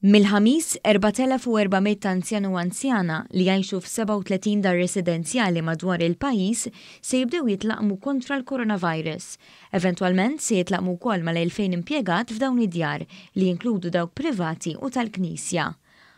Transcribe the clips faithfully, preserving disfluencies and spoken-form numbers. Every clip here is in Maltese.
Mill-Ħamis, erbat elef u erba' mitt anzjan u anzjana li jgħixu f'sebgħa u tletin dar residenzjali madwar il-pajjiż se jibdew jitlaqmu kontra l-coronavirus. Eventwalment se jitlaqmu wkoll mal-elfejn impjegat f'dawn id-djar, li jinkludu dawk privati u tal-Knisja.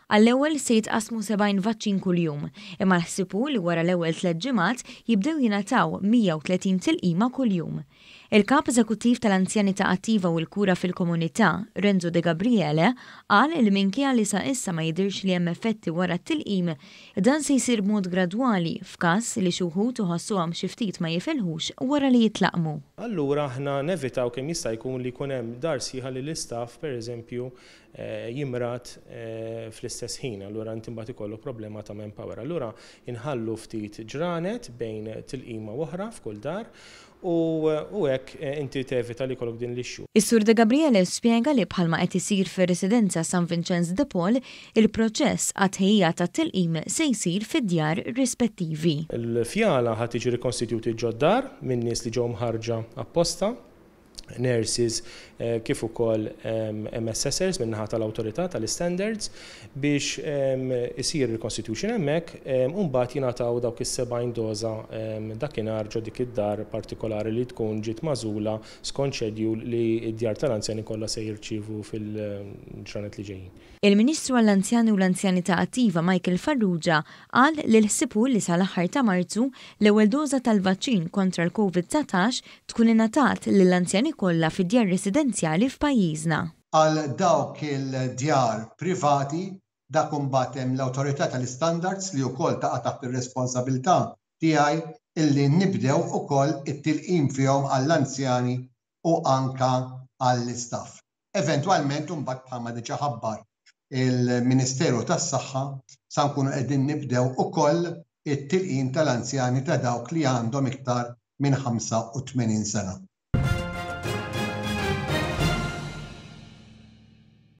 Għall-ewwel se jitqasmu sebgħin vaċċin kuljum, imma l-ħsieb hu li wara l-ewwel tliet ġimgħat jibdew jingħataw mija u tletin tilqima kuljum. Il-kap eżekuttiv tal-Anzjanità Attiva u l-Kura fil-Komunità, Renzo De Gabriele, qal li minkejja li sa issa ma jidirx li hemm effetti wara t-tilqim, dan se jsir b'mod gradwali f'każ li xi wħud iħossuhom xi ftit ma jifilħux wara li jitlaqmu. Allura aħna nevitaw kemm jista' jkun li jkun hemm dar sħiħa li l-istaff, pereżempju, eh, jimrad eh, fl-istess ħin, allura inti mbagħad ikollok problema ta' manpower. Allura inħallu ftit ġranet bejn tilqima oħra f'kull dar u hekk eh, inti tevita li jkollok din l-issue. Is-Sur De Gabriele spjega li bħalma qed isir fir-residenza San Vincenz de Paul, il-proċess għat-tħejjija tat-tilqim se jsir fid-djar rispettivi. Il-fjala ħa tiġi rikonstituti ġod-dar minn nies li ġew mħarrġa apposta, nurses eh, kif ukoll M S Sers min-naħa tal-awtorità tal-standards, biex isir reconstitution hemmhekk u mbagħad jingħataw dawk is-sebgħin doża dakinhar ġo dik id-dar partikolari li tkun ġiet magħżula skont schedule li d-djar tal-anzjani kollha se jirċievu fil-ġranet li ġejjin. Il-Ministru għall-Anzjani u l-Anzjanità Attiva Michael Farrugia qal li l-ħsieb hu li sal-aħħar ta' Marzu l-ewwel doża tal-vaċċin kontra l-Covid dsatax tkun ingħatat lill-anzjani kollha fid-djar residenzjali f'pajjiżna. Għal dawk il-djar privati, dak imbagħad hemm l-awtorità tal-standards li wkoll taqa' taħt ir-responsabilità tiegħi illi nibdew ukoll it-tilqim fihom għall-anzjani u anka għall-istaff. Eventwalment imbagħad, bħalma diġà ħabbar il-Ministeru tas-Saħħa, sa nkunu qegħdin nibdew ukoll it-tilqim tal-anzjani ta' dawk li għandhom iktar minn ħamsa u tmenin sena.